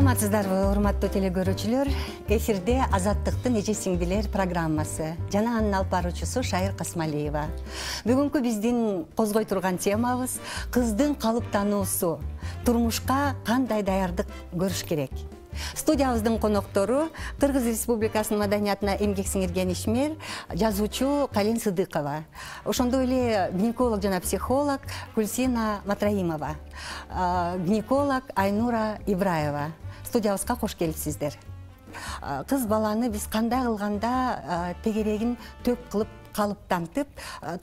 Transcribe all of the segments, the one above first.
Саламатсыздарбы, урматтуу телекөрүүчүлөр? Эфирде Азаттыктын эже сиңдилер программасы. Жана анын алып баруучусу Шайыр Касмалиева. Бүгүнкү биздин козгой турган темабыз кыздын калыптануусу. Турмушка кандай даярдык көрүш керек? Студиябыздын коноктору Кыргыз Республикасынын маданиятына эмгек сиңирген ишмер, жазуучу Кален Сыдыкова. Ошондой эле гинеколог жана психолог Гүлсина Матраимова, гинеколог Айнура Ибраева. Студиябызга кош келипсиздер. Кыз баланы биз кандай кылганда тегерегин төк кылып калыптантып,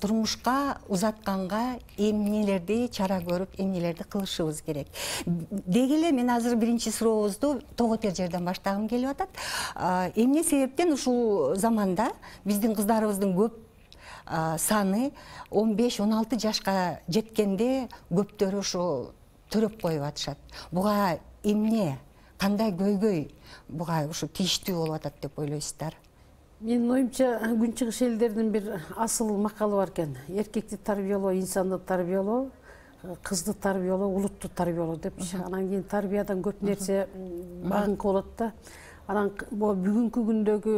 турмушка узатканга эмнелерди чара көрүп, эмнелерди кылышыбыз керек. Деги эле мен азыр биринчи сурообузду тоготер жерден баштагым келип атат. Эмне себептен ушул заманда биздин кыздарыбыздын көп саны 15-16 жашка жеткенде көптөрү ушу төрөп коюп атышат. Буга эмне, кандай көйгөй буга ушу тийиштүү болуп атат деп ойлойсуздар? Менин оюмча, күнчыгыш элдердин бир асыл макалы бар экен. Эркекти тарбиялоо, инсанды тарбиялоо, кызды тарбиялоо, улутту тарбиялоо депчи. Анан кийин тарбиядан көп нерсе багынкы болот да. Анан бүгүнкү күндөгү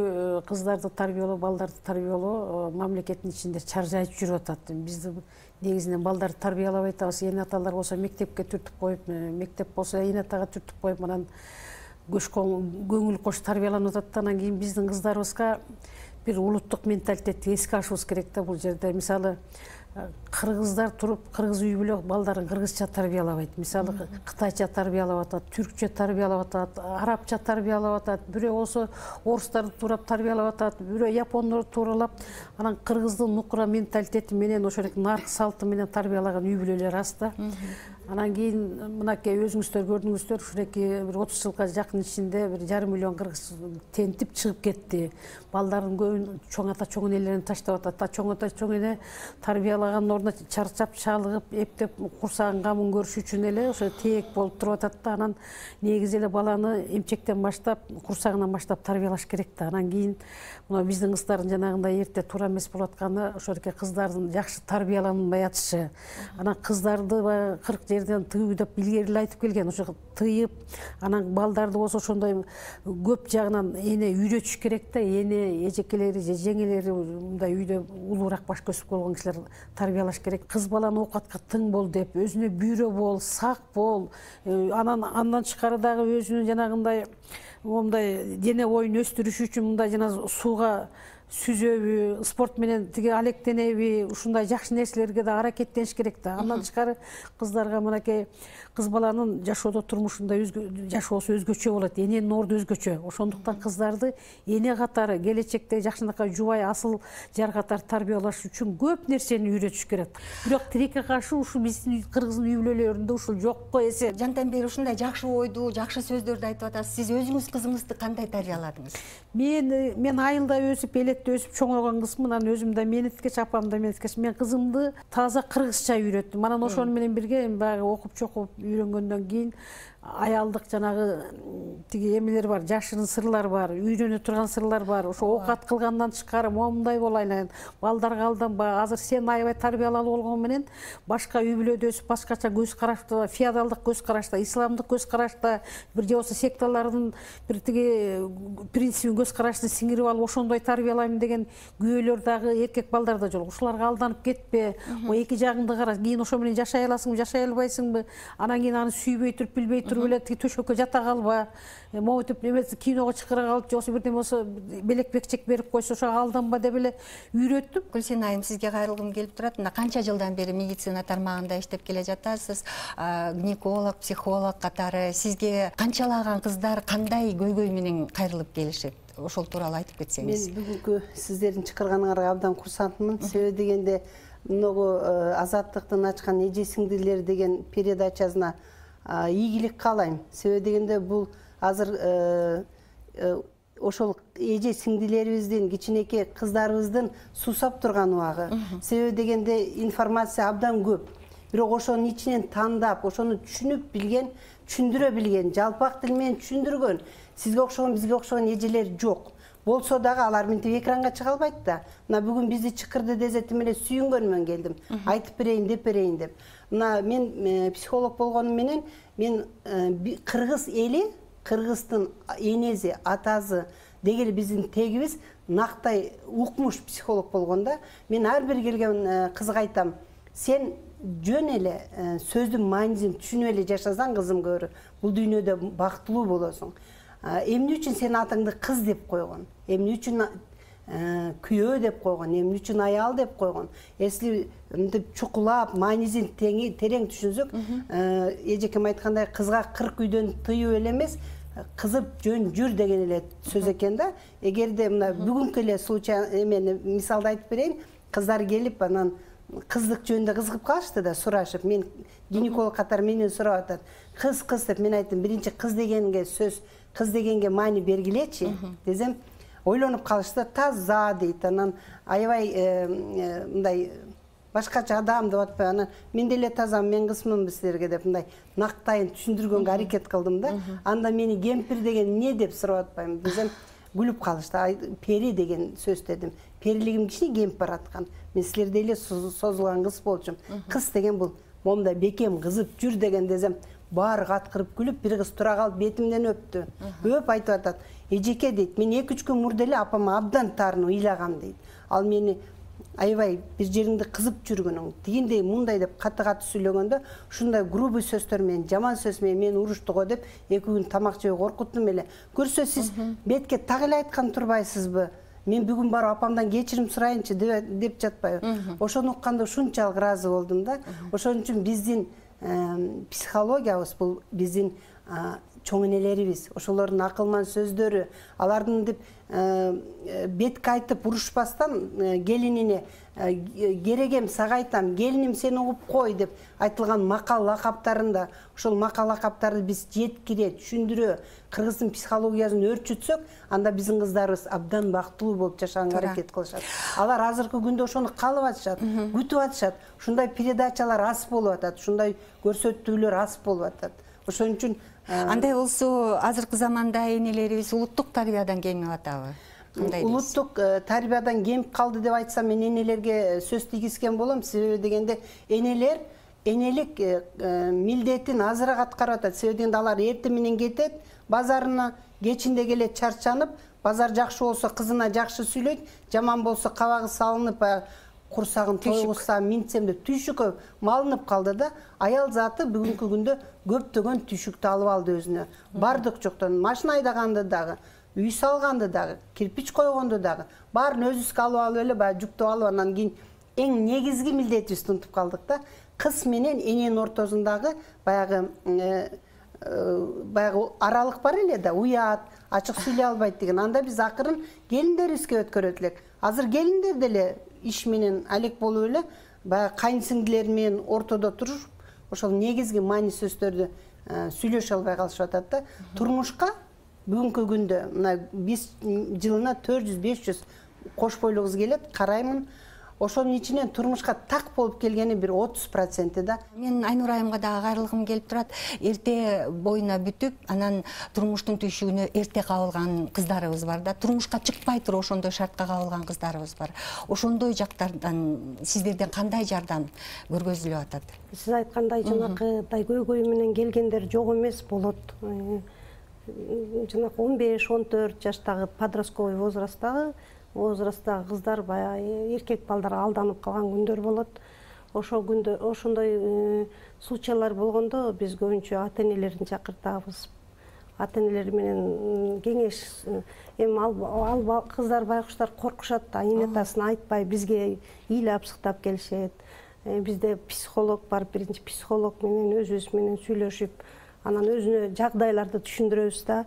кыздарды тарбиялоо, балдарды тарбиялоо мамлекеттин ичинде чаржайып жүрүп атат. Бизди негизинен балдарды тарбиялабай атабыз. Эне аталар болсо мектепке түртүп коюп, мектеп болсо эне атага түртүп коюп, анан көңүл кош тарбияланып атат. Анан кийин биздин кыздарыбызга бир улуттук менталитетти эске алышыбыз керек да бул жерде. Мисалы, кыргыздар туруп, кыргыз үй бүлө балдарын кыргызча тарбиялабайт. Мисалы, кытайча тарбиялап атат, түркчө тарбиялап атат, арабча тарбиялап атат, бирөө болсо орустарды туурап тарбиялап атат, бирөө япондорду тууралап. Анан кыргыздын нукура менталитети менен ошол наркы салты менен тарбиялаган үй бүлөлөр аз да. Анан кийин мынакей өзүңүздөр көрдүңүздөр, ушуреки бир 30 жылга жакын ичинде 1,5 миллион кыргыз тентип чыгып кетти. Балдардын көбүн чоң ата чоң энелерин таштап атат. Чоң ата чоң эне тарбиялаган ордуна чарчап, чалыгып, эптеп курсагын камын көрүш үчүн эле ошо тээк болуп туруп атат да. Анан негизи эле баланы эмчектен баштап, курсагынан баштап тарбиялаш керек да. Анан кийин мына биздин кыздардын жанагындай эрте туура эмес болуп атканы ошоке кыздардын жакшы тарбияланбай атышы. Анан кыздарды 40 жерден тыюу деп илгери эле айтып келген. Ошо тыйып, анан балдарды болсо ошондой көп жагынан эне үйрөтүш керек да. Эне эжекелери же жеңелери мындай үйдө улуураак баш көзүп болгон кишилер тарбиялаш керек. Кыз баланы оокатка тың бол деп, өзүнө бүйрө бол, сак бол. Андан тышкары дагы өзүнүн жанагындай момундай дене боюн өстүрүш үчүн мындай жана сууга сүзөбү, спорт менен тиги алектенеби, ушундай жакшы нерселерге да аракеттениш керек да. Андан тышкары кыздарга мынакей кыз баланын жашоодо турмушунда жашоосу өзгөчө болот, эненин орду өзгөчө. Ошондуктан кыздарды эне катары келечекте жакшынакай жубай асыл жар катары тарбиялаш үчүн көп нерсени үйрөтүш керек. Бирок тилекке каршы ушул биздин кыргыздын үй бүлөлөрүндө ушул жокко эсе. Жантан бери ушундай жакшы ойду, жакшы сөздөрдү айтып атасыз. Сиз өзүңүз кызыңызды кандай тарбияладыңыз? Мен айылда өсүп, элетте өсүп чоңойгон кызмын. Анан өзүм да менеткеч, апам да менеткеч. Мен кызымды таза кыргызча үйрөттүм. Анан ошону менен бирге баягы окуп чокуп үйрөнгөндөн кийин аялдык жанагы тиги эмелер бар, жашырын сырлар бар, үйрөнө турган сырлар бар. Ошо оокат кылгандан тышкары момундай болайын, балдарга алданба. Азыр сен аябай тарбиялалуу болгон менен башка үй бүлөдө өсүп, башкача көз карашта, феодалдык көз карашта, исламдык көз карашта, бир же болсо секталардын бир тиги принцибин көз карашты сиңирип алып, ошондой тарбиялайм деген күйөөлөр дагы эркек балдарда жок. Ушуларга алданып кетпе. Эки жагыңды кара. Кийин ошо менен жашай аласыңбы, жашай албайсыңбы? Анан кийин аны сүйбөй туруп, билбей туруп эле төшөккө жата калба. Могутуп эмес киного чакыра калып, же бирдеме болсо белек бекчек берип койсо ошого алданба деп эле үйрөттүм. Гүлсина айым, сизге кайрылгым келип турат. Мына канча жылдан бери медицина тармагында иштеп келе жатасыз? Гинеколог, психолог катары сизге канчалаган кыздар кандай көйгөй менен кайрылып келишет? Ошол тууралуу айтып кетсеңиз. Мен бүгүнкү сиздердин чакырганыңарга абдан курсантмын. Себеби дегенде многу Азаттыктын ачкан эже сиңдилер деген передачасына ийгилик каалайм. Себеби дегенде бул азыр ошол эже сиңдилерибиздин, кичинекей кыздарыбыздын суусап турган убагы. Себеби дегенде информация абдан көп. Бирок ошонун ичинен тандап, ошону түшүнүп билген, түшүндүрө билген, жалпак тил менен түшүндүргөн, сизге окшогон, бизге окшогон эжелер жок. Болсо дагы алар мынтип экранга чыга албайт да. Мына бүгүн бизди чыкырды дезетим эле сүйүнгөнмөн келдим. Айтып берейин деп берейин деп. Мына мен психолог болгонум менен мен кыргыз эли кыргыздын энеси, атасы дегеле биздин тегибиз нактай укмуш психолог болгондо мен ар бир келген кызга айтам, сен жөн эле сөздүн маанисин түшүнүп эле жашасаң, кызым көрү, бул дүйнөдө бактылуу болосуң. Эмне үчүн сен атыңды кыз деп койгон? Эмне үчүн күйөө деп койгон? Эмне үчүн аял деп койгон? Если мынтип чукулап, маанисин терең түшүнсөк, эжекем айткандай, кызга 40 үйдөн тыюу эле эмес, кызып жөн жүр деген эле сөз экен да. Эгерде мына бүгүнкү эле случай эмени мисалды айтып берейин. Кыздар келип, анан кыздык жөнүндө кызыгып калышты да, сурашып. Мен гинеколог катары менен сурап атат. Кыз деп мен айттым, биринчи кыз дегенге сөз, кыз дегенге маани бергилечи десем, ойлонуп калышты. Таза дейт. Анан аябай мындай башкача адам деп атпай, анан мен деле тазам, мен кызмын силерге деп мындай нактайын түшүндүргөнгө аракет кылдым да. Анда мени кемпир деген эмне деп сурап атпайм десем, күлүп калышты. Пери деген сөз дедим. Перилигим кичине кемип бараткан. Мен силерде эле созулган кыз болчумун. Кыз деген бул момундай бекем кызып жүр деген десем, баары каткырып күлүп, бир кыз тура калып бетимден өптү. Өп айтып атат. Эжеке дейт, мен 2-3 күн мурда эле апама абдан таарынып ыйлагам дейт. Ал мени аябай бир жериңди кызып жүргөнүң, тигиндей мындай деп каты сүйлөгөндө, ушундай грубый сөздөр менен, жаман сөз менен мени урушту го деп 2 күн тамак жебей коркуттум эле. Көрсө сиз бетке так эле айткан турбайсызбы? Мен бүгүн барып апамдан кечирим сурайынчы деп жатпайбы? Ошону укканда ушунчалык ыраазы болдум да. Ошон үчүн биздин психологиябыз бул биздин чоң энелерибиз, ошолордун акылман сөздөрү, алардын деп бетке айтып урушпастан келинине керегем сага айтам, келиним сени угуп кой деп айтылган макал лакаптарында, ошол макал лакаптарды биз жеткире, түшүндүрө, кыргыздын психологиясын өрчүтсөк, анда биздин кыздарыбыз абдан бактылуу болуп жашаганга аракет кылышат. Алар азыркы күндө ошону каалап атышат, күтүп атышат. Ушундай передачалар аз болуп атат, ушундай көрсөтүүлөр аз болуп атат. Ошон үчүн андай болсо азыркы заманда энелерибиз улуттук тарбиядан кемип атабы? Улуттук тарбиядан кемип калды деп айтсам, мен энелерге сөз тийгизген болом. Себеби дегенде энелер энелик милдетин азыраак аткарып атат. Себеби дегенде алар эртең менен кетет базарына, кечинде келет чарчанып, базар жакшы болсо кызына жакшы сүйлөйт, жаман болсо кабагы салынып, курсагын тойгузсам, минтсем деп түйшүккө малынып калды да. Аял заты бүгүнкү күндө көптөгөн түйшүктү алып алды өзүнө. Бардык жоктон машина айдаганды дагы, үй салганды дагы, кирпич койгонду дагы, баарын өзүбүзгө алып эле баягы жүктөп алып, анан кийин эң негизги милдетибизди унутуп калдык да. Кыз менен эненин ортосундагы баягы аралык бар эле да, уят, ачык сүйлөй албайт деген. Анда биз акырын келиндерибизге өткөрөт элек. Азыр келиндер деле иш менен алек болуп эле, баягы кайнсиңдилер менен ортодо туруп, ошол негизги маани сөздөрдү сүйлөшө албай калышып атат да. Турмушка бүгүнкү күндө мына биз жылына 400-500 кош бойлуу кыз келет, караймын. Ошонун ичинен турмушка так болуп келгени бир 30% да. Мен Айнур айымга дагы кайрылгым келип турат. Эрте боюна бүтүп, анан турмуштун түйшүгүнө эрте кабылган кыздарыбыз бар да. Турмушка чыкпай туруп ошондой шартка кабылган кыздарыбыз бар. Ошондой жактардан сиздерден кандай жардам көргөзүлүп атат? Сиз айткандай жанакыдай көйгөй менен келгендер жок эмес болот. Жанакы 15-14 жаштагы подростковый возрасттагы кыздар баягы эркек балдар алданып калган күндөр болот. Ошол күндө ошондой случайлар болгондо биз көбүнчө ата-энелерин чакыртабыз. Ата-энелер менен кеңеш, эми ал кыздар байкуштар коркушат да, эне атасын айтпай бизге ыйлап сыктап келишет. Бизде психолог бар, биринчи психолог менен өзүбүз менен сүйлөшүп, анан өзүнө жагдайларды түшүндүрөбүз да.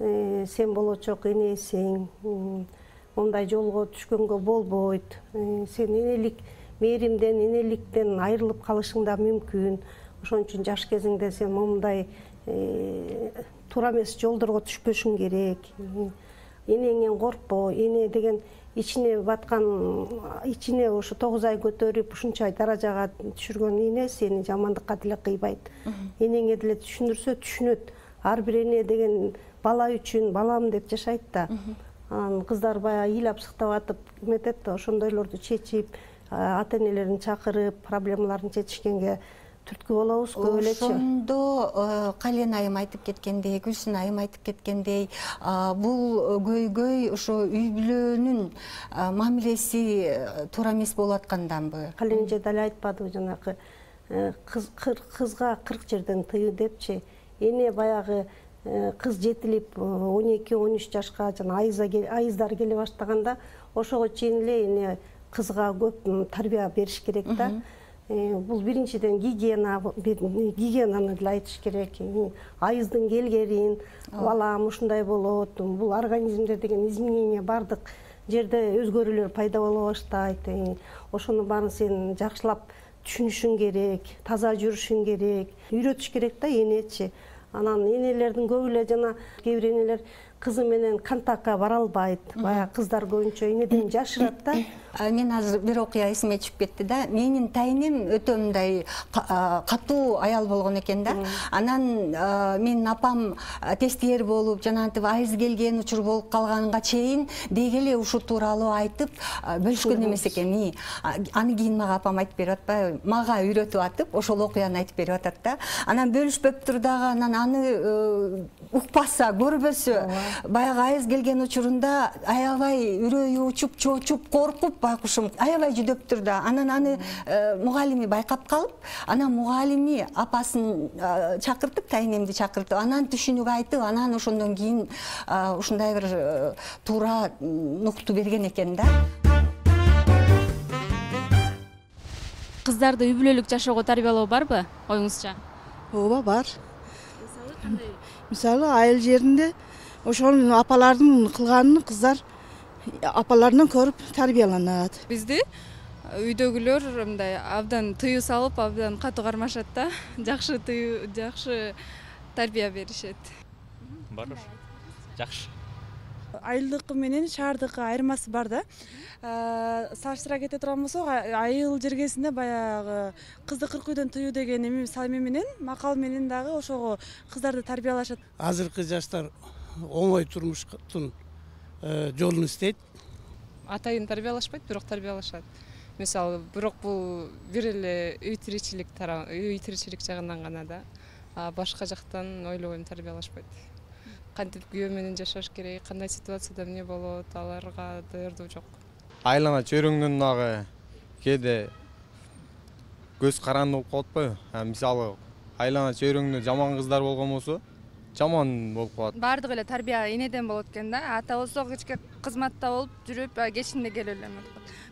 Сен болочок энесиң, мындай жолго түшкөнгө болбойт. Сен энелик мээримден, энеликтен айрылып калышың да мүмкүн. Ошон үчүн жаш кезиңде сен мындай туура эмес жолдорго түшпөшүң керек. Энеңден коркпо. Эне деген ичине баткан, ичине ошо 9 ай көтөрүп, ушунчай даражага түшүргөн эне сени жамандыкка деле кыйбайт. Энеңе деле түшүндүрсө түшүнөт. Ар бир эне деген бала үчүн балам деп жашайт да. Кыздар баягы ыйлап сыктап атып эметет да, ошондойлорду чечип, ата-энелерин чакырып, проблемаларын чечишкенге түрткү болобуз көп элечи. Ошондо Кален айым айтып кеткендей, Гүлсүн айым айтып кеткендей, бул көйгөй ошо үй бүлөнүн мамилеси туура эмес болуп атканданбы? Кален эже деле айтпадыбы жанакы кызга 40 жерден тыю депчи. Эне баягы кыз жетилип 12-13 жашка жана айыздар келе баштаганда ошого чейин эле эне кызга көп тарбия бериш керек да. Бул биринчиден гигиенаны деле айтыш керек. Айыздын келгерин, балам ушундай болот, бул организмде деген изменение бардык жерде өзгөрүүлөр пайда боло баштайт. Ошонун баарын сен жакшылап түшүнүшүң керек, таза жүрүшүң керек, үйрөтүш керек да энечи. Анан энелердин көбү эле жана кээ бир энелер кызы менен контактка бара албайт. Баягы кыздар көбүнчө энеден жашырат да. Мен азыр бир окуя эсиме түшүп кетти да. Менин тайнем өтө мындай катуу аял болгон экен да. Анан менин апам тестиер болуп, жанагынтип айыз келген учур болуп калганга чейин деги эле ушу тууралуу айтып бөлүшкөн эмес экен. Аны кийин мага апам айтып берип атпайбы? Мага үйрөтүп атып, ошол окуяны айтып берип атат да. Анан бөлүшпөптүр дагы, анан аны укпаса, көрбөсө, баягы айыз келген учурунда аябай үрөйү учуп, чочуп, коркуп байкушум аябай жүдөптүр да. Анан аны мугалими байкап калып, анан мугалими апасын чакыртып, тайнемди чакыртып, анан түшүнүк айтып, анан ошондон кийин ушундай бир туура нукту берген экен да. Кыздарды үй бүлөлүк жашоого тарбиялоо барбы оюңузча? Ооба, бар. Мисалы айыл жеринде ошонун апалардын кылганын кыздар апаларынан көрүп тарбияланат. Бизди үйдөгүлөр мындай абдан тыюу салып, абдан катуу кармашат да. Жакшы тарбия беришет. Бар ошо. Жакшы. Айылдыкы менен шаардыкы айырмасы бар да. Салыштыра кете турган болсок, айыл жергесинде баягы кызды 40 үйдөн тыюу деген эми салми менен, макал менен дагы ошого кыздарды тарбиялашат. Азыркы жаштар оңой турмуштун жолун издейт. Атайын тарбиялашпайт, бирок тарбиялашат. Мисалы, бирок бул бир эле үй тиричилик жагынан гана да. Башка жактан ойлобойм тарбиялашпайт. Кантип күйөө менен жашаш керек, кандай ситуацияда эмне болот, аларга даярдоо жок. Айлана чөйрөңдөн дагы кээде көз каранды болуп калат атпайбы? Мисалы, айлана чөйрөңдө жаман кыздар болгон болсо, жаман болуп калат. Бардык эле тарбия энеден болот экен да. Ата болсо кичке кызматта болуп жүрүп, кечинде келип эле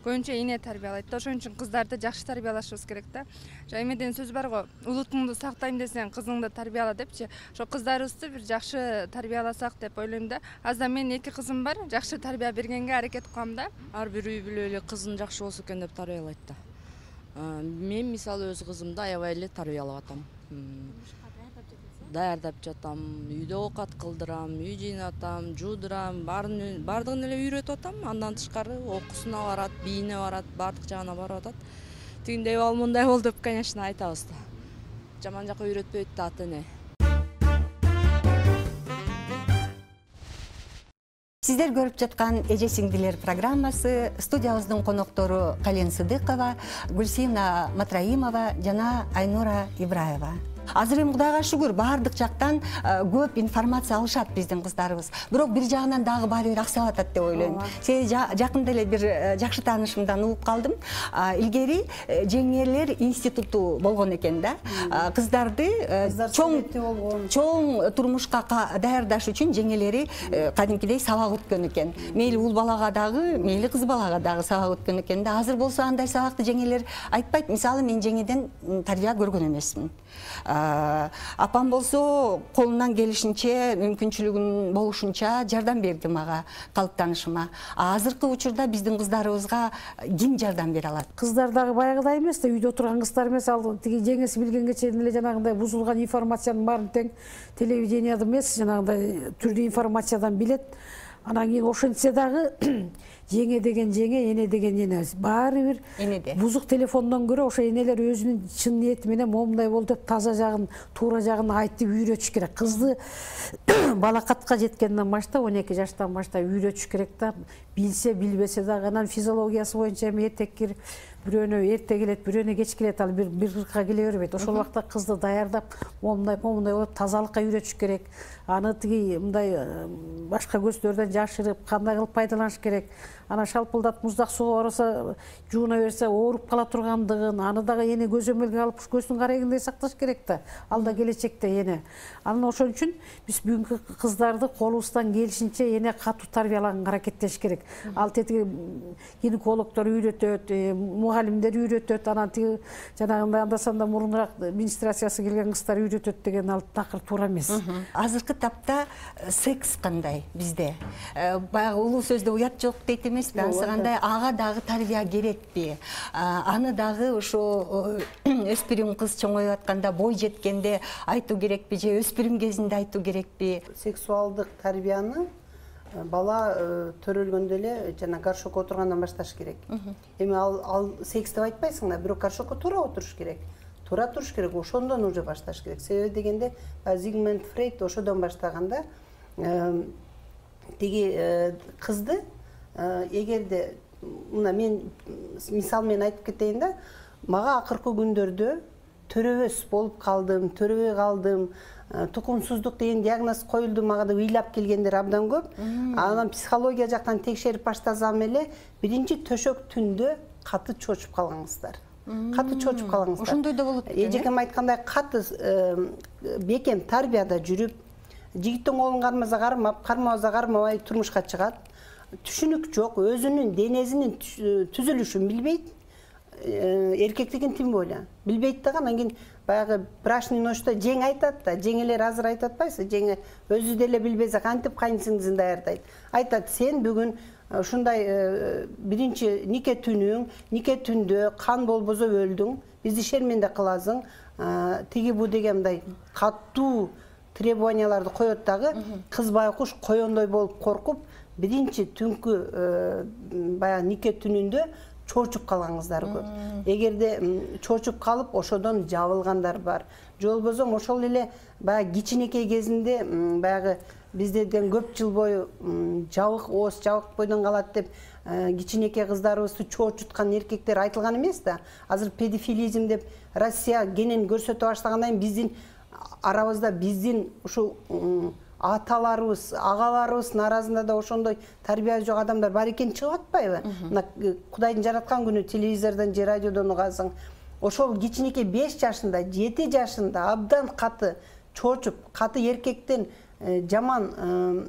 көбүнчө эне тарбиялайт да. Ошон үчүн кыздарды жакшы тарбиялашыбыз керек да. Эмеден сөз бар го, улутуңду сактайм десең, кызыңды тарбияла депчи. Ошо кыздарыбызды бир жакшы тарбияласак деп ойлойм да. Аздан менин 2 кызым бар, жакшы тарбия бергенге аракет кылам да. Ар бир үй бүлө эле кызын жакшы болсо экен деп тарбиялайт да. Мен мисалы өз кызымды аябай эле тарбиялап атам. Даярдап жатам, үйдө оокат кылдырам, үй жыйнатам, жуудурам, бардыгын эле үйрөтүп атам. Андан тышкары окуусуна барат, бийине барат, бардык жагына барып атат. Тигиндей бол, мындай бол деп, конечно, айтабыз да. Жаман жакка үйрөтпөйт да ата эне. Сиздер көрүп жаткан Эже сиңдилер программасы студиябыздын коноктору Кален Сыдыкова, Гүлсина Матраимова жана Айнура Ибраева. Азыр эми Кудайга шүгүр бардык жактан көп информация алышат биздин кыздарыбыз. Бирок бир жагынан дагы баары бир аксап атат деп ойлойм. Себеби жакында эле бир жакшы таанышымдан угуп калдым. Илгери жеңелер институту болгон экен да. Кыздарды чоң турмушка даярдаш үчүн жеңелери кадимкидей сабак өткөн экен. Мейли уул балага дагы, мейли кыз балага дагы сабак өткөн экен да. Азыр болсо андай сабакты жеңелер айтпайт. Мисалы, мен жеңеден тарбия көргөн эмесмин. Апам болсо колунан келишинче, мүмкүнчүлүгүн болушунча жардам берди мага, калыптанышыма. Азыркы учурда биздин кыздарыбызга ким жардам бере алат? Кыздар дагы баягыдай эмес да, үйдө отурган кыздар эмес, ал тиги жеңеси билгенге чейин эле жанагындай бузулган информациянын баарын тең телевиденияда эмес, жанагындай түрдүү информациядан билет. Анан кийин ошентсе дагы жеңе деген жеңе, эне деген эне. Баары бир энеде. Бузук телефондон көрө ошо энелер өзүнүн чын ниети менен момундай болду деп таза жагын, туура жагын айтып үйрөтүш керек. Кызды балакатка жеткенден баштап, 12 жаштан баштап үйрөтүш керек да. Билсе, билбесе дагы анан физиологиясы боюнча эртеккир бирөөнө эрте келет, бирөөнө кеч келет, ал бир кырка келе бербейт. Ошол убакта кызды даярдап, момундай болуп тазалыкка үйрөтүш керек. Аны тиги мындай башка көздөрдөн жашырып, кандай кылып пайдаланыш керек. Ана шалпылдат муздак сууга барса, жууна берсе ооруп кала тургандыгын, аны дагы эне көзөмөлгө алып, көздүн карайгындай сакташ керек да. Ал да келечекте эне. Анан ошон үчүн биз бүгүнкү кыздарды колубуздан келишинче эне катуу тарбиялаганга аракеттеш керек. Ал тетиги гинекологдор үйрөтөт, мугалимдер үйрөтөт, анан тиги жанагындай андасанда мурунураак менструациясы келген кыздар үйрөтөт деген ал такыр туура эмес. Азыркы тапта секс кандай бизде? Баягы улуу сөздө уят жок дейт эмеспи? Ансыгандай ага дагы тарбия керекпи? Аны дагы ошо өспүрүм кыз чоңоюп атканда, бой жеткенде айтуу керекпи же өспүрүм кезинде айтуу керекпи? Сексуалдык тарбияны бала төрөлгөндө эле жана горшокко отургандан башташ керек. Эми ал секс деп айтпайсың да, бирок горшокко туура отуруш керек. Туура туруш керек, ошондон уже башташ керек. Себеби дегенде Зигмунд Фрейд ошодон баштаганда тиги кызды эгерде мына мен мисал менен айтып кетейин да, мага акыркы күндөрдө төрөбөс болуп калдым, төрөбөй калдым, тукумсуздук деген диагноз коюлду, мага да ыйлап келгендер абдан көп. Анан психология жактан текшерип баштасам эле, биринчи төшөк түндө каты чочуп калган кыздар. Каты чочуп калган кыздар. Ошондой да болот экен. Эжекем айткандай каты бекем тарбияда жүрүп, жигиттин колун кармап, кармабаса кармабай турмушка чыгат. Түшүнүк жок, өзүнүн денесинин түзүлүшүн билбейт. Эркектигин тим боло билбейт дагы. Анан кийин баягы брачный ночто жең айтат да, жеңелер азыр айтып атпайсызбы? Жеңе өзү деле билбесе кантип кайнсиңдисин даярдайт. Айтат, сен бүгүн ушундай биринчи нике түндө кан болбосо өлдүң, бизди шерменде кыласың, тиги бу деген мындай катуу требованияларды коет дагы. Кыз байкуш коёндой болуп коркуп, биринчи түнкү баягы нике түнүндө чочуп калган кыздар көп. Эгерде чочуп калып, ошодон жабылгандар бар. Же болбосо ошол эле баягы кичинекей кезинде баягы бизден көп жыл бою жабык ооз, жабык бойдон калат деп кичинекей кыздарыбызды чочуткан эркектер айтылган эмес да. Азыр педофилизм деп Россия кенен көрсөтө баштагандан кийин биздин арабызда биздин ушул аталарыбыз, агаларыбыздын арасында да ошондой тарбия жок адамдар бар экен чыгып атпайбы? Мына Кудайдын жараткан күнү телевизордон же радиодон угасың. Ошол кичинекей 5 жашында, 7 жашында абдан каты чочуп, каты эркектен жаман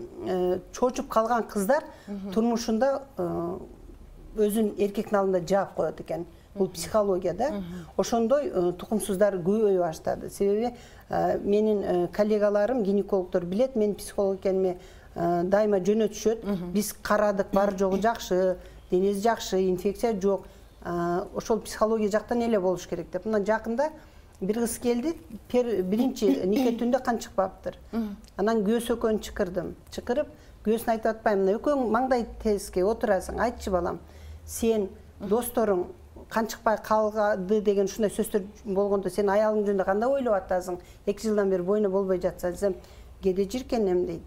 чочуп калган кыздар турмушунда өзүн эркектин алдында жаап коет экен. Бул психология да. Ошондой тукумсуздар көбөйө баштады. Себеби менин коллегаларым, гинекологдор билет, мен психолог экениме дайыма жөнөтүшөт. Биз карадык, бар жогу жакшы, денеси жакшы, инфекция жок. Ошол психология жактан эле болуш керек деп. Мына жакында бир кыз келди, биринчи нике түндө кан чыкпаптыр. Анан көөс экөөнү чыкырдым. Чыкырып, көөсүн айтып атпайм, экөөң маңдай теске отурасың, айтчы балам, сен досторуң кан чыкпай калды деген ушундай сөздөр болгондо сен аялың жөнүндө кандай ойлоп атасың? 2 жылдан бери бойна болбой жатса десем, кээде жиркенем дейт.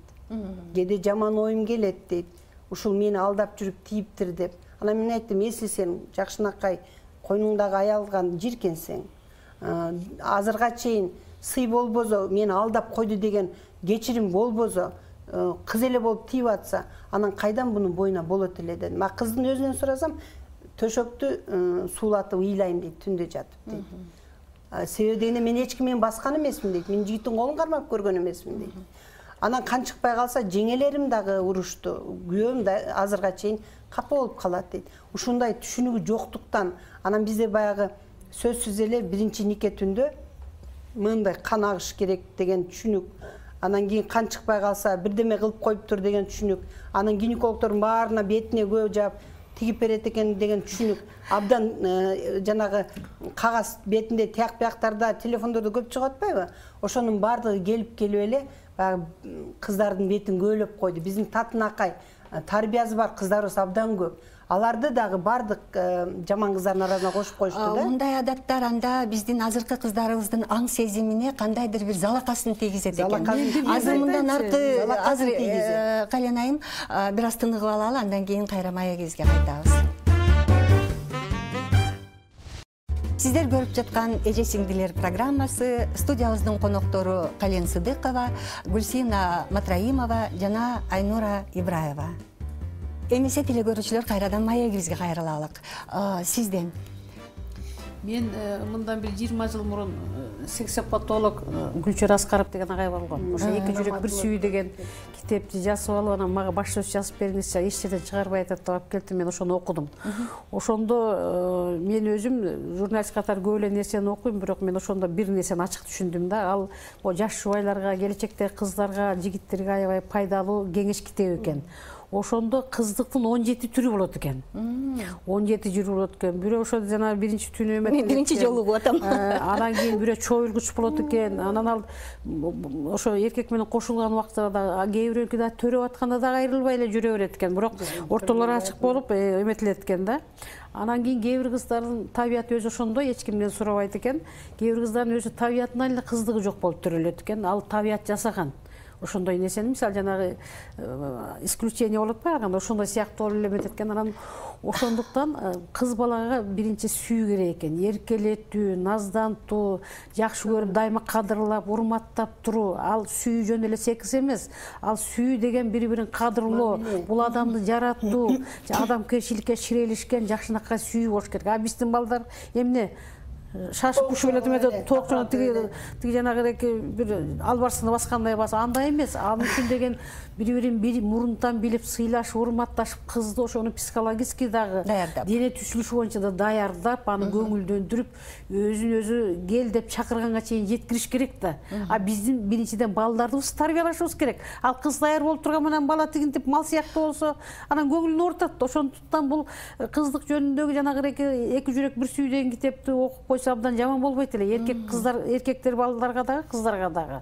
Кээде жаман оюм келет дейт. Ушул мени алдап жүрүп тийиптир деп. Анан мен айттым, эсли сен жакшынакай койнуңдагы аялган жиркенсең, азырга чейин сый болбосо, мени алдап койду деген кечирим болбосо, кыз эле болуп тийип атса, анан кайдан бунун бойуна болот эле дедим. Ма кыздын өзүнөн сурасам, төшөктү суулатып ыйлайм дейт, түндө жатып дейт. Себеби дегенде мен эч кимдин баскан эмесмин дейт, мен жигиттин колун кармап көргөн эмесмин дейт. Анан кан чыкпай калса, жеңелерим дагы урушту, күйөөм да азырга чейин капа болуп калат дейт. Ушундай түшүнүгү жоктуктан, анан бизде баягы сөзсүз эле биринчи нике түндө мындай кан агыш керек деген түшүнүк. Анан кийин кан чыкпай калса, бирдеме кылып коюптур деген түшүнүк. Анан гинекологдордун баарына бетине көө жаап тигип берет экен деген түшүнүк. Абдан жанагы кагаз бетинде тияк бияктарда, телефондордо көп чыгып атпайбы? Ошонун баардыгы келип эле баягы кыздардын бетин көөлөп койду. Биздин татынакай тарбиясы бар кыздарыбыз абдан көп. аларды дагы бардык жаман кыздардын арасына кошуп коюшту да. Мындай адаттар анда биздин азыркы кыздарыбыздын аң сезимине кандайдыр бир залакасын тийгизет экен. Азыр мындан аркы Кален айым бир аз тыныгып алалы, андан кийин кайра маегибизге кайтабыз. Сиздер көрүп жаткан Эже сиңдилер программасы студиябыздын коноктору Кален Сыдыкова, Гүлсина Матраимова жана Айнура Ибраева. Эмесе телекөрүүчүлөр, кайрадан маегибизге кайрылалык. Сизден? Мен мындан бир 20 жыл мурун сексопатолог Гүлчөр Аскаров деген агай болгон. Ошо «Эки жүрөк бир сүйүү» деген китепти жазып алып, анан мага баш сөз жазып бериңизчи, эч жерден чыгарбай атат деп алып келди. Мен ошону окудум. Ошондо мен өзүм журналист катары көп эле нерсени окуйм, бирок мен ошондо бир нерсени ачык түшүндүм да. Ал жаш жубайларга, келечектеги кыздарга, жигиттерге аябай пайдалуу кеңеш китеби экен. Ошондо кыздыктын 17 түрү болот экен. 17 түрү болот экен. Бирөө ошо жана биринчи түнү эметет. Мен биринчи жолу угуп атам. Анан кийин бирөө чоюлгуч болот экен. Анан ал ошо эркек менен кошулган убакта да кээ бирөөнүкү да төрөп атканда да кайрылбай эле жүрө берет экен. Бирок ортолору ачык болуп эметилет экен да. Анан кийин кээ бир кыздардын табияты өзү ошондой, эч кимден сурабайт экен. Кээ бир кыздардын өзү табиятынан эле кыздыгы жок болуп төрөлөт экен. Ал табият жасаган. Ошондой нерсени, мисалы жанагы исключение болот барганда ошондой сыяктуу болуп эметет экен. Анан ошондуктан кыз балага биринчи сүйүү керек экен. Эркелетүү, наздантуу, жакшы көрүп дайыма кадырлап, урматтап туруу. Ал сүйүү жөн эле секс эмес. Ал сүйүү деген бири-бирин кадырлоо, бул адамды жараттуу, адамгерчиликке ширелишкен жакшынакай сүйүү болуш керек. А биздин балдар эмне шашып кушуп эле эметет, тоокчоно тиги жанагы бир албарсыны баскандай баса, андай эмес. Ал үчүн деген бири-бирин мурунтан билип, сыйлашып, урматташып, кызды ошону психологически дагы дене түзүлүшү боюнча да даярдап, аны көңүлдөндүрүп, өзүн өзү кел деп чакырганга чейин жеткириш керек да. А биздин биринчиден балдарыбызды тарбиялашыбыз керек. Ал кыз даяр болуп турган менен бала тигинтип мал сыяктуу болсо, анан көңүлүн оорутат. Ошондуктан бул кыздык жөнүндөгү жанагы «Эки жүрөк бир сүйүү» деген китепти окуп койсо абдан жаман болбойт эле. Эркектер балдарга дагы, кыздарга дагы.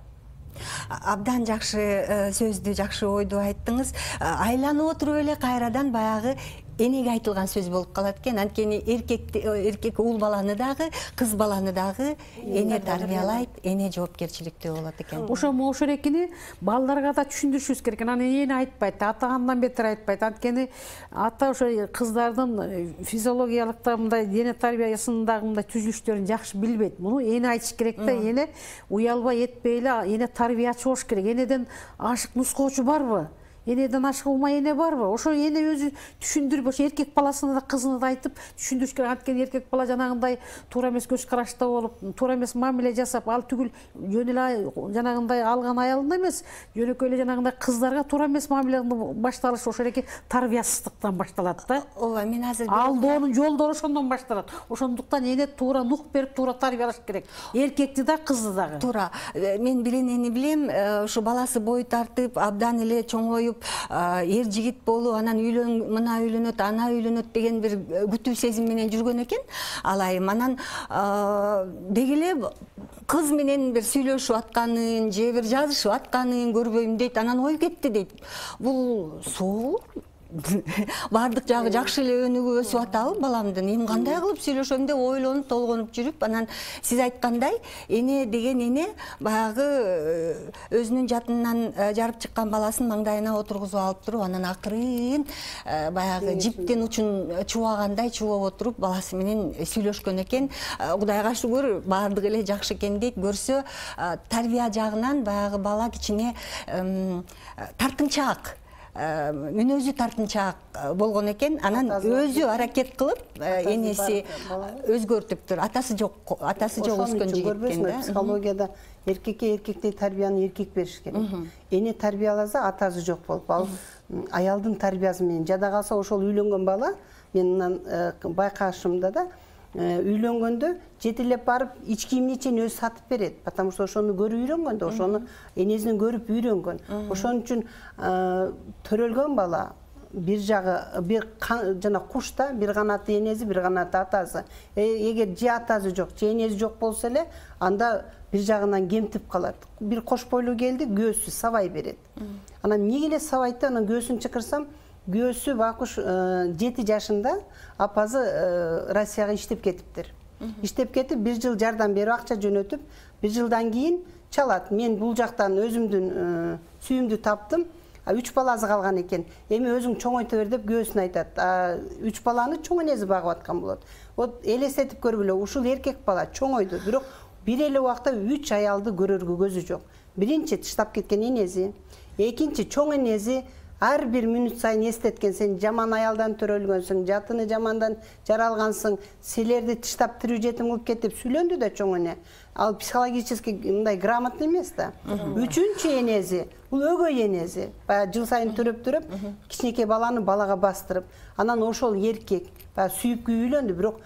Абдан жакшы сөздү, жакшы ойду айттыңыз. Айланып отуруп эле кайрадан баягы энеге айтылган сөз болуп калат экен. Анткени эркек уул баланы дагы, кыз баланы дагы эне тарбиялайт, эне жоопкерчиликтүү болот экен. Ошол экини балдарга да түшүндүрүшүбүз керек. Анан эне айтпайт, ата андан бетер айтпайт. Анткени ата ошо кыздардын физиологиялык да мындай дене тарбиясындагы мындай түзүлүштөрүн жакшы билбейт. Муну эне айтыш керек да. Эне уялбай этпей эле эне тарбиячы болуш керек. Энеден ашык нускоочу барбы? Энеден ашык ума эне барбы? Ошо эне өзү түшүндүрүп, ошо эркек баласына да кызына да айтып түшүндүрүш керек. Анткени эркек бала жанагындай туура эмес көз карашта болуп, туура эмес мамиле жасап, ал түгүл жөн эле жанагындай алган аялына эмес, жөнөкөй эле жанагындай кыздарга туура эмес мамиле башталышы ошол эки тарбиясыздыктан башталат да. Ооба, мен азыр алдоонун жолдору ошондон башталат. Ошондуктан эне туура нук берип, туура тарбиялаш керек. Эркекти да, кызды дагы. Туура. Мен бир энени билем, ушу баласы бой тартып, абдан эле чоңоюп, эр жигит болуп, анан мына үйлөнөт, ана үйлөнөт деген бир күтүү сезим менен жүргөн экен. Алайым анан деги эле кыз менен бир сүйлөшүп атканын, же бир жазышып атканын көрбөйм дейт. Анан ой кетти дейт. Бул суу бардык жагы жакшы эле өнүгүп өсүп атабы баламдын? Эми кандай кылып сүйлөшөм деп ойлонуп толгонуп жүрүп, анан сиз айткандай эне деген эне баягы өзүнүн жатынан жарып чыккан баласын маңдайына отургузуп алып туруп, анан акырын баягы жиптин учун чубагандай чубап отуруп баласы менен сүйлөшкөн экен. Кудайга шүгүр, бардыгы эле жакшы экен дейт. Көрсө тарбия жагынан баягы бала кичине тартынчаак, мүнөзү тартынчаак болгон экен. Анан өзү аракет кылып энеси өзгөртүптүр. Атасы жок өскөн жигит экен да. Психологияда эркекке эркектей тарбияны эркек бериш керек. Эне тарбияласа атасы жок болуп, ал аялдын тарбиясы менен жада калса ошол үйлөнгөн бала, мен байкашымда да үйлөнгөндө жетелеп барып ич кийимини чейин өзү сатып берет. Потому что ошону көрүп үйрөнгөн да, ошону энесинен көрүп үйрөнгөн. Ошон үчүн төрөлгөн бала бир жагы бир жана кушта бир канаты энеси, бир канаты атасы. Эгер же атасы жок, же энеси жок болсо эле, анда бир жагынан кемтип калат. Бир кош бойлуу келди, көөсү сабай берет. Анан эмнеге эле сабайт да, анан көөсүн чыкырсам, күйөөсү Бакуш 7 жашында апасы Россияга иштеп кетиптир. Иштеп кетип 1 жыл жардам берип акча жөнөтүп, 1 жылдан кийин чалат. Мен бул жактан өзүмдүн сүйүмдү таптым. 3 баласы калган экен. Эми өзүң чоңойто бер деп күйөөсүнө айтат. 3 баланы чоң энеси багып аткан болот. Вот элестетип көргүлө, ушул эркек бала чоңойду, бирок бир эле убакта 3 аялды көрөргө көзү жок. Биринчи тыштап кеткен энеси, экинчи чоң энеси ар бир мүнөт сайын эстеткен, сен жаман аялдан төрөлгөнсүң, жатыны жамандан жаралгансың, силерди тыштап тирүү жетим кылып кет деп сүйлөндү да чоң эне. Ал психологически мындай грамотный эмес да. Үчүнчү энеси, бул өгөй энеси. Баягы жыл сайын төрөп, кичинекей баланы балага бастырып, анан ошол еркек баягы сүйүп үйлөндү, бирок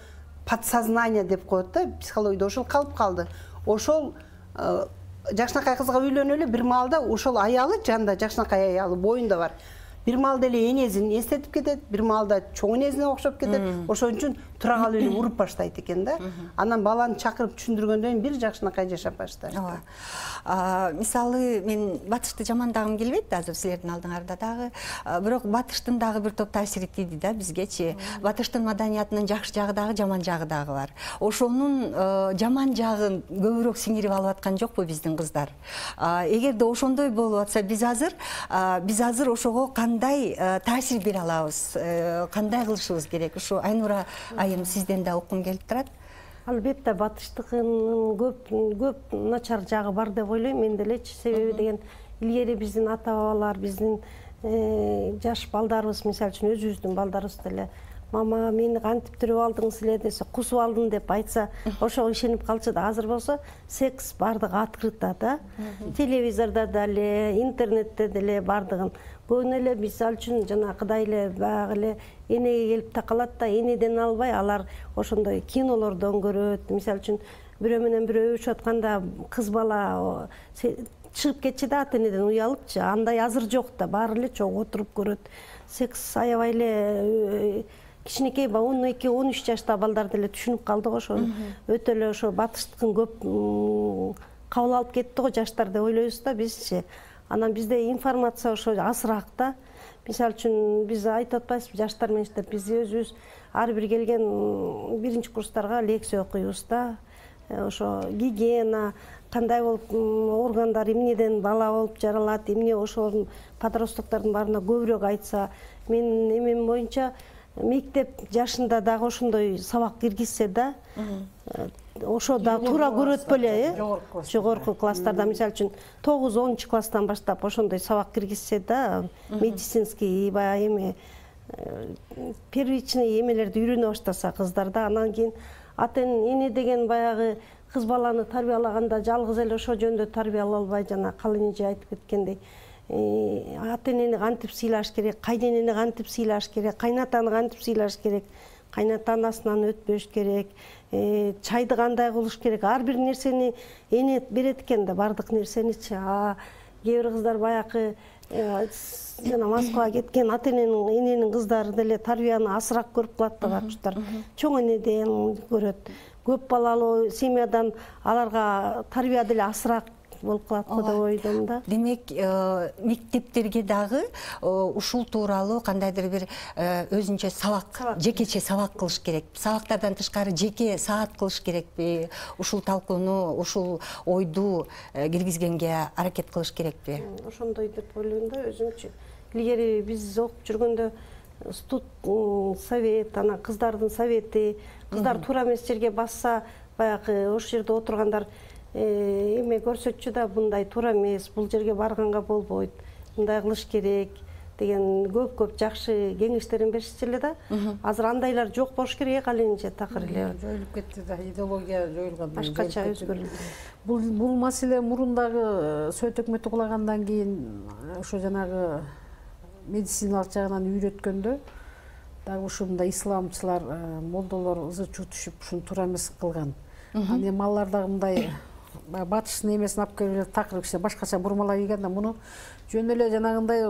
подсознание деп коет да, психологияда ошол калып калды. Ошол жакшынакай кызга үйлөнөлү бир маалда ошол аялы жанында жакшынакай аялы боюнда бар. Бир маалда эле энесин эстетип кетет, бир маалда чоң энесине окшоп кетет. Ошон үчүн тура калып эле уруп баштайт экен да. Анан баланы чакырып түшүндүргөндөн кийин бир жакшынакай жашап баштайт. Мисалы мен батышты жамандагым келбейт азыр силердин алдыңарда дагы, бирок батыштын дагы бир топ таасири тийди да бизгечи. Батыштын маданиятынын жакшы жагы дагы, жаман жагы дагы бар. Ошонун жаман жагын көбүрөөк сиңирип алып аткан жокпу биздин кыздар? Эгерде ошондой болуп атса, биз азыр ошого кандай таасир бере алабыз? Кандай кылышыбыз керек? Ушу Айнура айым сизден да уккум келип турат. Албетте батыштыкынын көп начар жагы бар деп ойлойм мен делечи. Себеби деген илгери биздин ата бабалар, биздин жаш балдарыбыз, мисалы үчүн өзүбүздүн балдарыбыз деле мама мени кантип түрүп алдыңыз эле десе, кусуп алдым деп айтса, ошого ишенип калчу да. Азыр болсо секс бардыгы открыто да. Телевизордо деле, интернетте деле бардыгын. Көбүнө эле мисалы үчүн жанагыдай эле баягы эле энеге келип такалат да, энеден албай алар ошондой кинолордон көрөт. Мисалы үчүн бирөө менен бирөө өбүшүп атканда кыз бала чыгып кетчү да ата энеден уялыпчы. Андай азыр жок да, баары эле чогуу отуруп көрөт. Секс аябай эле кичинекей 12-13 жашта балдар деле түшүнүп калдык ошо. Өтө эле ошо батыштыкын көп кабыл алып кетти го жаштар деп ойлойбуз да бизчи. Анан бизде информация ошо азыраак да. Мисалы үчүн биз айтып атпайбызбы жаштар менен иштеп, биз өзүбүз ар бир келген биринчи курстарга лекция окуйбуз да. Ошо гигиена, кандай болуп органдар эмнеден бала болуп жаралат, эмне ошол подростоктордун баарына көбүрөөк айтса, мен эмем боюнча мектеп жашында дагы ошондой сабак киргизсе да, ошо да туура көрөт беле, жогорку класстарда, мисалы үчүн 9-10 класстан баштап ошондой сабак киргизсе да, медицинский баягы эме первичный эмелерди үйрөнө баштаса кыздарда, анан кийин ата эне деген баягы кыз баланы тарбиялаганда жалгыз эле ошо жөндө тарбиялай албай, жана калын эже айтып кеткендей, ата энени кантип сыйлаш керек, кайненени кантип сыйлаш керек, кайнатаны кантип сыйлаш керек, кайната анасынан өтпөш керек, чайды кандай кылыш керек, ар бир нерсени эне берет экен да, бардык нерсеничи. Кээ бир кыздар баягы жана Москвага кеткен ата эненин кыздары деле тарбияны азыраак көрүп калат да бакуштар. Чоң энеден көрөт. Көп балалуу семьядан аларга тарбия деле азыраак болуп калат го деп ойдом да. Демек, мектептерге дагы ушул тууралуу кандайдыр бир өзүнчө сабак, жекече сабак кылыш керек. Сабактардан тышкары жеке саат кылыш керекпи? Ушул талкууну, ушул ойду киргизгенге аракет кылыш керекпи? Ошондой деп ойлойм да өзүмчү. Илгери биз окуп жүргөндө студ совет, анан кыздардын совети, кыздар туура эмес жерге басса, баягы ошол жерде отургандар эме көрсөтчү да, мындай туура эмес, бул жерге барганга болбойт, мындай кылыш керек деген көп жакшы кеңештерин беришчү эле да. Азыр андайлар жок болуш керек, ал эне такыр эле жоюлуп кетти да, идеология жоюлган. Башкача өзгөрдү. Бул маселе мурундагы Совет өкмөтү кулагандан кийин ошо жанагы медициналык жагынан үйрөткөндө дагы ушундай исламчылар, молдолор ызы-чуу түшүп ушуну туура эмес кылган. Анан эми алар дагы мындай батыштын эмесин алып келип такыр кичине башкача бурмалай ийген да, муну жөн эле жанагындай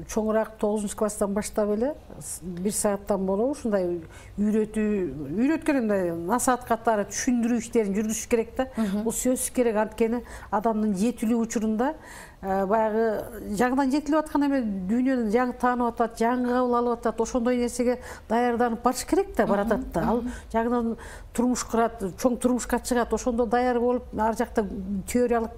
чоңураак 9-класстан баштап эле 1 сааттан болобу ушундай үйрөткөн мындай насаат катары түшүндүрүү иштерин жүргүзүш керек да. Бул сөзсүз керек, анткени адамдын жетилүү учурунда баягы жаңыдан жетилип аткан эме дүйнөнү жаңы таанып атат, жаңы кабыл алып атат, ошондой нерсеге даярданып барыш керек да, баратат да. Ал жаңыдан турмуш курат, чоң турмушка чыгат, ошондо даяр болуп, ар жакта теориялык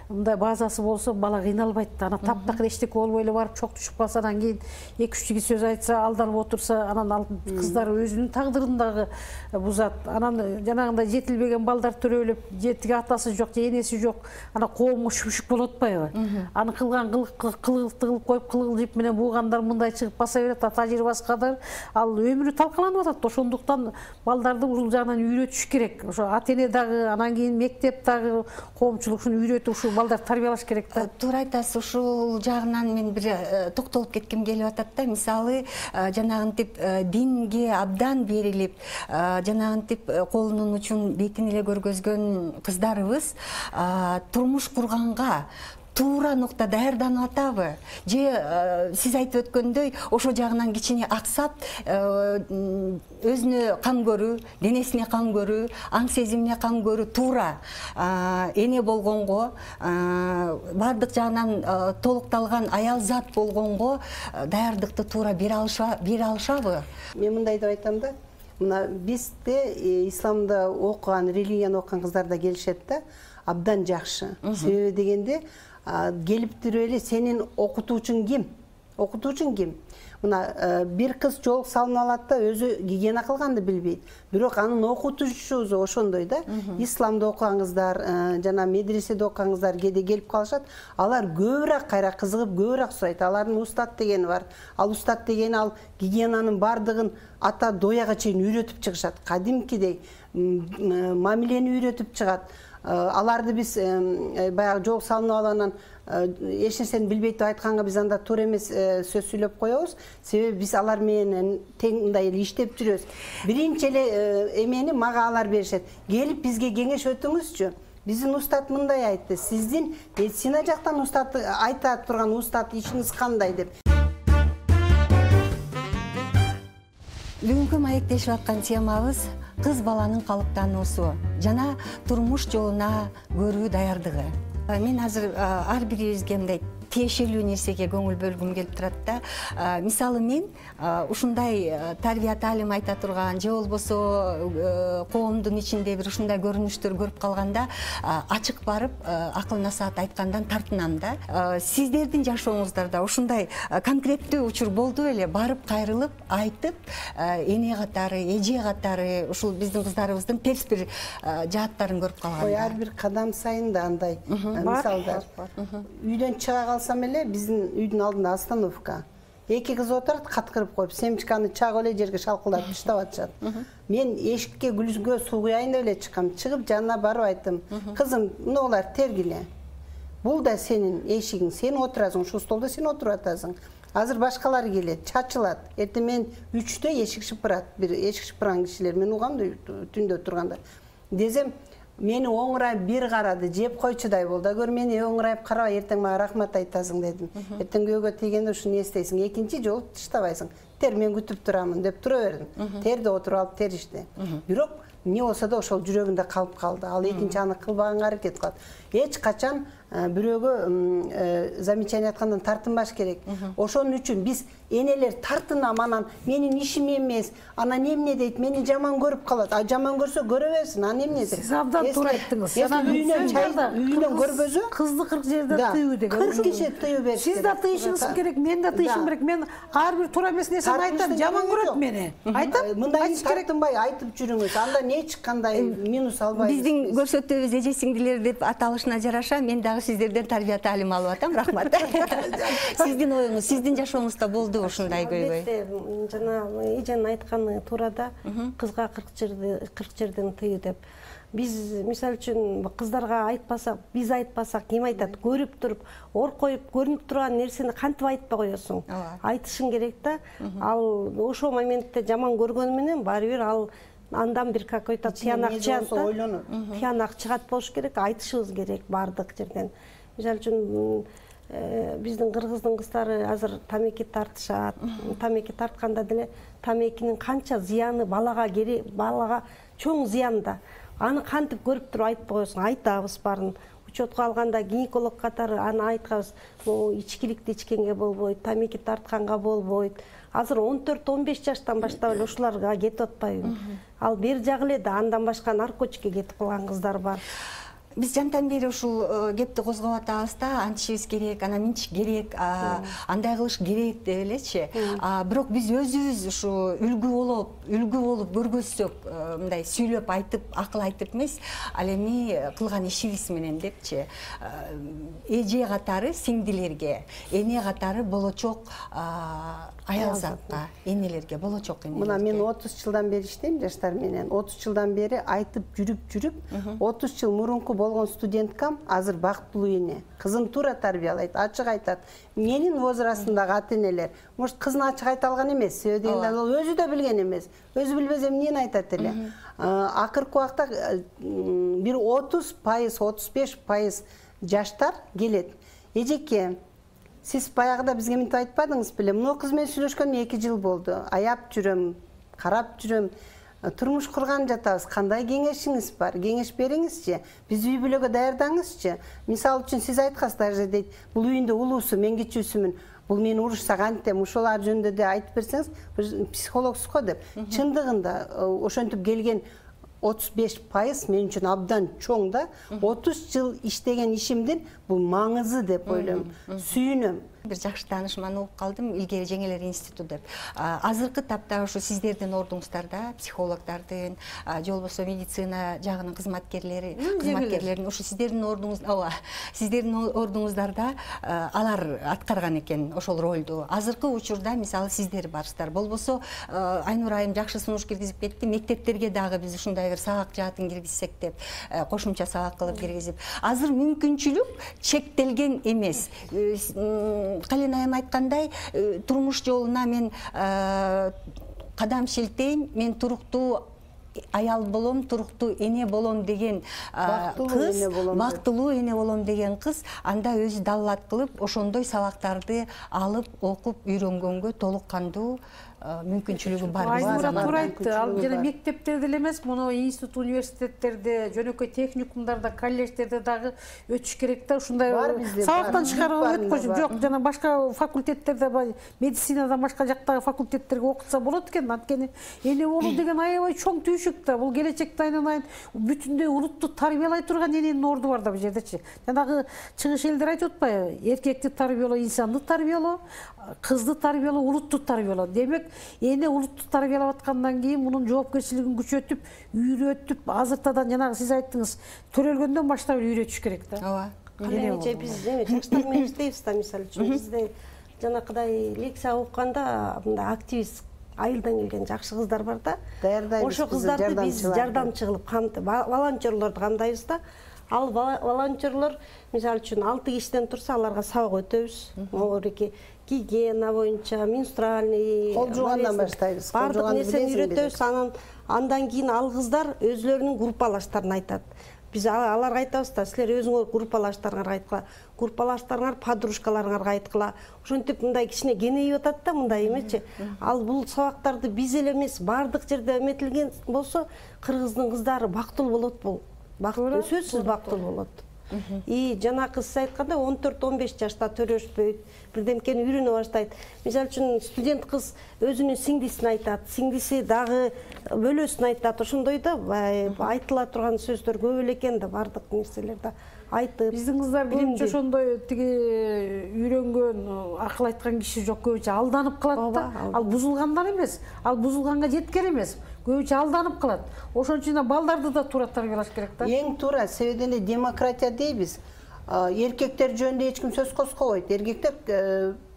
мындай базасы болсо бала кыйналбайт да. Анан таптакыр эчтеке болбой эле барып чок түшүп калса, анан кийин 2-3 сөз айтса, алданып отурса, анан ал кыздар өзүнүн тагдырын дагы бузат. Анан жанагындай жетилбеген балдар төрөлүп, жетиги атасы жок, же энеси жок, анан коомго шүпшүк болуп атпайбы? Аны кылган кылыкты кылып коюп, кылгыл жип менен буугандар мындай чыгып баса берет, тажрыйбасы кадар, ал өмүрү талкаланып атат. Ошондуктан балдарды ушул жагынан үйрөтүш керек. Ошо ата-эне дагы, анан кийин мектеп дагы, коомчулук ушуну үйрөтүп, ушул балдар тарбиялаш керек да. Туура айтасыз, ушул жагынан мен бир токтолуп кетким келип атат да. Мисалы, жанагынтип динге абдан берилип, жанагынтип колунун учун бетин эле көргөзгөн кыздарыбыз турмуш курганга туура нукта даярданып атабы? Же сиз айтып өткөндөй, ошо жагынан кичине аксап, өзүнө кам көрүү, денесине кам көрүү, аң сезимине кам көрүү, туура эне болгонго, бардык жагынан толукталган аял зат болгонго даярдыкты туура бере алышабы? Мен мындай деп айтам да. Мына бизде исламда окуган, религияны окуган кыздар да келишет да. Абдан жакшы. Себеби дегенде келип туруп эле сенин окутуучуң ким? Окутуучуң ким? Мына бир кыз жол салынып алат да, өзү гигиена кылганды билбейт. Бирок анын окутуучусу ошондой да. Исламда окуган кыздар, жана медреседе окуган кыздар кээде келип калышат. Алар көбүрөөк кайра кызыгып, көбүрөөк сурайт. Алардын устат дегени бар. Ал устат дегени ал гигиенанын бардыгын ата дояга чейин үйрөтүп чыгышат. Кадимкидей мамилени үйрөтүп чыгат. Аларды биз баягы жол салынып алганан эч нерсени билбейт деп айтканга биз анда туура эмес сөз сүйлөп коебуз. Себеби биз алар менен тең мындай эле иштеп жүрөбүз. Биринчи эле эмени мага алар беришет. Келип бизге кеңеш өтүңүзчү. Биздин устат мындай айтты. Сиздин медицина жактан устат айта турган устат ишиңиз кандай деп. Бүгүнкү маектешип аткан темабыз кыз баланын калыптануусу жана турмуш жолуна көрүү даярдыгы. Мен азыр ар бирибизге мындай тиешелүү нерсеге көңүл бөлгүм келип турат да. Мисалы мен ушундай тарбия таалим айта турган же болбосо коомдун ичинде бир ушундай көрүнүштөр көрүп калганда ачык барып акыл насаат айткандан тартынам да. Сиздердин жашооңуздарда ушундай конкреттүү учур болду беле? Барып кайрылып айтып, эне катары, эже катары ушул биздин кыздарыбыздын терс бир жааттарын көрүп калганда. Ой, ар бир кадам сайын да андай мисалдар. Үйдөн чыга калсам эле биздин үйдүн алдында остановка. Эки кыз отырат, каткырып коюп, семчканы чагып эле жерге шалкылдатып таштап атышат. Мен эшикке гүлгө суу куяйын деп эле чыккам. Чыгып жанына барып айттым: "Кызым, мынулар тергиле. Бул да сенин эшигиң, сен отурасың, ушул столдо сен отуруп атасың. Азыр башкалар келет, чачылат. Эртең мен 3-тө эшик шыпырат, бир эшик шыпырган кишилер мен угам түндө турганда. Десем, мени оңурайып бир карады, жеп койчудай болду. Гөр мени оңурайып карабай, эртең мага рахмат айтасың дедим. Эртең күйөөгө тийгенде ушуну эстейсиң, экинчи жолу таштабайсың. Тер, мен күтүп турамын деп тура бердим. Терди отуруп алып теришти. Бирок эмне болсо да ошол жүрөгүндө калып калды. Ал экинчи аны кылбаганга аракет кылат. Эч качан бирөөгө замечание аткандан тартынбаш керек. Ошон үчүн биз энелер тартынам, анан менин ишим эмес, анан эмне дейт, мени жаман көрүп калат. А жаман көрсө көрө берсин, анан эмне дейт? Сиз абдан туура айттыңыз. Үйдөн көрбөзө кызды 40 жерде тыюу деген. 40 киши тыюу бериш. Сиз да тыйышыңыз керек, мен да тыйышым керек. Мен ар бир туура эмес нерсени айтам, жаман көрөт мени. Айтам, мындай тартынбай айтып жүрүңүз. Анда эч кандай минус албайсыз. Биздин көрсөтүүбүз эже сиңдилер деп аталышына жараша мен дагы сиздерден тарбия таалим алып атам. Рахмат. Сиздин оюңуз, сиздин жашооңузда болду ушундай көйгөй? Жана эженин айтканы туура да, кызга 40 жерден тыюу деп. Биз мисалы үчүн кыздарга айтпасак, биз айтпасак ким айтат? Көрүп туруп, оркоюп көрүнүп турган нерсени кантип айтпай коесуң? Айтышың керек да. Ал ошол моментте жаман көргөнү менен баары бир ал андан бир какой-то тиянак чыгат. Тиянак чыгат болуш керек, айтышыбыз керек бардык жерден. Мисалы үчүн биздин кыргыздын кыздары азыр тамеки тартышат. Тамеки тартканда деле тамекинин канча зыяны балага чоң зыян да. Аны кантип көрүп туруп айтпай коесуң? Айтабыз баарын. учетко алганда гинеколог катары аны айтканбыз, могу ичкиликти ичкенге болбойт, тамеки тартканга болбойт. Азыр 14-15 жаштан баштап эле ушуларга кетип атпайбы? Ал бери жагы эле да андан башка наркотикке кетип калган кыздар бар. Биз жантан бери ушул кепти козгоп атабыз да, антишибиз керек, анан минчик керек, андай кылыш керек деп элечи. Бирок биз өзүбүз ушу үлгү болуп көргөзсөк, мындай сүйлөп айтып, акыл айтып эмес, ал эми кылган ишибиз менен депчи. Эже катары сиңдилерге, эне катары болочок аялзатка, энелерге, болочок энелерге. Мына мен 30 жылдан бери иштейм жаштар менен. 30 жылдан бери айтып жүрүп, 30 жыл мурунку болгон студенткам азыр бактылуу эне. Кызын туура тарбиялайт, ачык айтат. Менин возрастымдагы ата-энелер, может, кызын ачык айта алган эмес, себеби дегенде ал өзү да билген эмес. Өзү билбесе эмнени айтат эле. Акыркы убакта бир 30%, 35% жаштар келет. Эжеке, сиз баягыда бизге мынтип айтпадыңыз беле? Мына кыз менен сүйлөшкөнүмө 2 жыл болду. Аяп жүрөм, карап жүрөм. Турмуш курган жатабыз. Кандай кеңешиңиз бар? Кеңеш бериңизчи. Биз үй бүлөгө даярдаңызчы. Мисалы үчүн сиз айткансыз, даже дейт, бул үйүндө улуусу, мен кичүүсүмүн. Бул мени урушса кантем, ушулар жөнүндө да айтып берсеңиз, психологсуз го деп. Чындыгында ошентип келген 35% мен үчүн абдан чоң да. 30 жыл иштеген ишимдин бул маңызы деп ойлойм. Сүйүнөм. Бир жакшы таанышман угуп калдым, илгери жеңелер институту деп. Азыркы тапта ушу сиздердин ордуңуздарда, психологдордун, же болбосо медицина жагынын кызматкерлерин ушу сиздердин ордуңуздарда алар аткарган экен ошол ролду. Азыркы учурда мисалы сиздер барсыздар. Болбосо Айнур айым жакшы сунуш киргизип кетти. Мектептерге дагы биз ушундай бир сабак жаатын киргизсек деп, кошумча сабак кылып киргизип. Азыр мүмкүнчүлүк чектелген эмес. Кален айым айткандай, турмуш жолуна мен кадам шилтейм, мен туруктуу аял болом, туруктуу эне болом деген кыз, бактылуу эне болом деген кыз, анда өзү даллат кылып, ошондой сабактарды алып, окуп, үйрөнгөнгө толук кандуу мүмкүнчүлүгү бар. Айнура туура айтты. Ал жана мектептерде эле эмес, муну институт, университеттерде, жөнөкөй техникумдарда, колледждерде дагы өтүш керек да. Ушундай сабактан чыгарып өткөзүп, жок, жана башка факультеттерде, медицинадан башка жактагы факультеттерге окутса болот экен. Анткени эне болуу деген аябай чоң түйшүк да. Бул келечекте айнан бүтүндөй улутту тарбиялай турган эненин орду бар да бул жердечи. Жанагы чыгыш элдер айтып атпайбы? Эркекти тарбиялоо, инсанды тарбиялоо, кызды тарбиялоо, улутту тарбиялоо. Демек, эне улутту тарбиялап аткандан кийин мунун жоопкерчилигин күчөтүп, үйрөтүп, азыртадан жанагы сиз айттыңыз, төрөлгөндөн баштап үйрөтүш керек да. Ооба. Калеже биз жаштар менен иштейбиз да, мисалы үчүн бизде жанакыдай лекция окуганда мындай активист айылдан келген жакшы кыздар бар да. Даярдайбыз. Ошо кыздарды биз жардамчы кылып волонтерлорду камдайбыз да. Ал волонтерлор мисалы үчүн 6 кишиден турса, аларга сабак өтөбүз. Могуреки гигиена боюнча, менструальный, кол жуугандан баштайбыз. Бардык нерсени үйрөтөбүз. Андан кийин ал кыздар өзлөрүнүн группалаштарын айтат. Биз аларга айтабыз да, силер өзүңөр группалаштарыңарга айткыла, группалаштарыңар подружкаларыңарга айткыла. Ошентип мындай кичине кенейип атат да, мындай эмечи. Ал бул сабактарды биз эле эмес, бардык жерде эметилген болсо, кыргыздын кыздары бактылуу болот бул. Бактылуу, сөзсүз бактылуу болот. И жанакы сиз айткандай 14-15 жашта төрөшпөйт, бирдемкени үйрөнө баштайт. Мисалы үчүн студент кыз өзүнүн сиңдисин айтат, сиңдиси дагы бөлөсүн айтат. Ошондой да айтыла турган сөздөр көп эле экен да, бардык нерселерде айтып. Биздин кыздар көбүнчө ошондой тиги үйрөнгөн, акыл айткан киши жок, көбүнчө алданып калат да. Ал бузулгандан эмес, ал бузулганга жеткен эмес. Көбүнчө алданып калат. Ошон үчүн балдарды да туура тарбиялаш керек да. Эң туура, себеби эле демократия дейбиз. Эркектер жөнүндө эч ким сөз козгобойт. Эркектер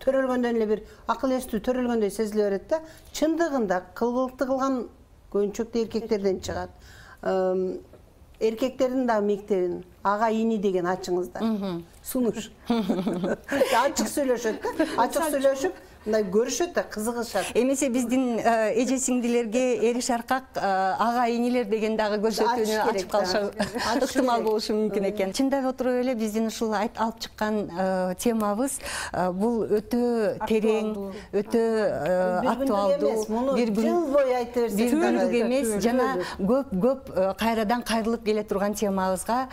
төрөлгөндөн эле бир акыл эстүү төрөлгөндөй сезиле берет да. Чындыгында кылгылыкты кылган көбүнчөктө эркектерден чыгат. Эркектердин да мектебин ага ини деген ачыңыздар. Сунуш. Ачык сүйлөшөт да. Ачык сүйлөшүп, мындай көрүшөт да кызыгышат. Эмесе биздин эже сиңдилерге эри шаркак ага инилер деген дагы көрсөтүүнү ачып калышы ыктымал болушу мүмкүн экен. Чындап отуруп эле биздин ушул алып чыккан темабыз бул өтө терең, өтө актуалдуу, бир жыл бою айта берсек бир күндүк эмес, жана көп кайрадан кайрылып келе турган темабызга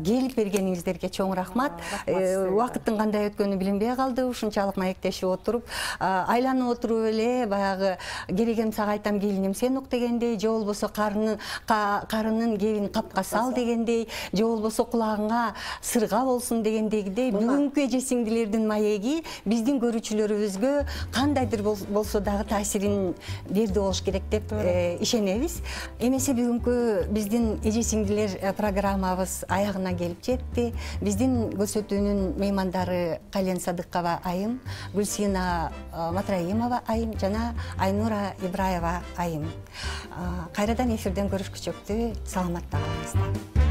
келип бергениңиздерге чоң рахмат. Убакыттын кандай өткөнү билинбей калды, ушунчалык маектешип отуруп, айланып отуруп эле баягы керегем сага айтам келиним сен ук дегендей, же болбосо карынын кебин капка сал дегендей, же болбосо кулагыңа сырга болсун дегендегидей бүгүнкү эже сиңдилердин маеги биздин көрүүчүлөрүбүзгө кандайдыр болсо дагы таасирин берди болуш керек деп ишенебиз. Эмесе бүгүнкү биздин эже сиңдилер программабыз аягына келип жетти. Биздин көрсөтүүнүн меймандары Кален Садыкова айым, Гүлсина Матраимова айым жана Айнура Ибраева айым. Кайрадан эфирден көрүшкүчө саламатта калыңыздар.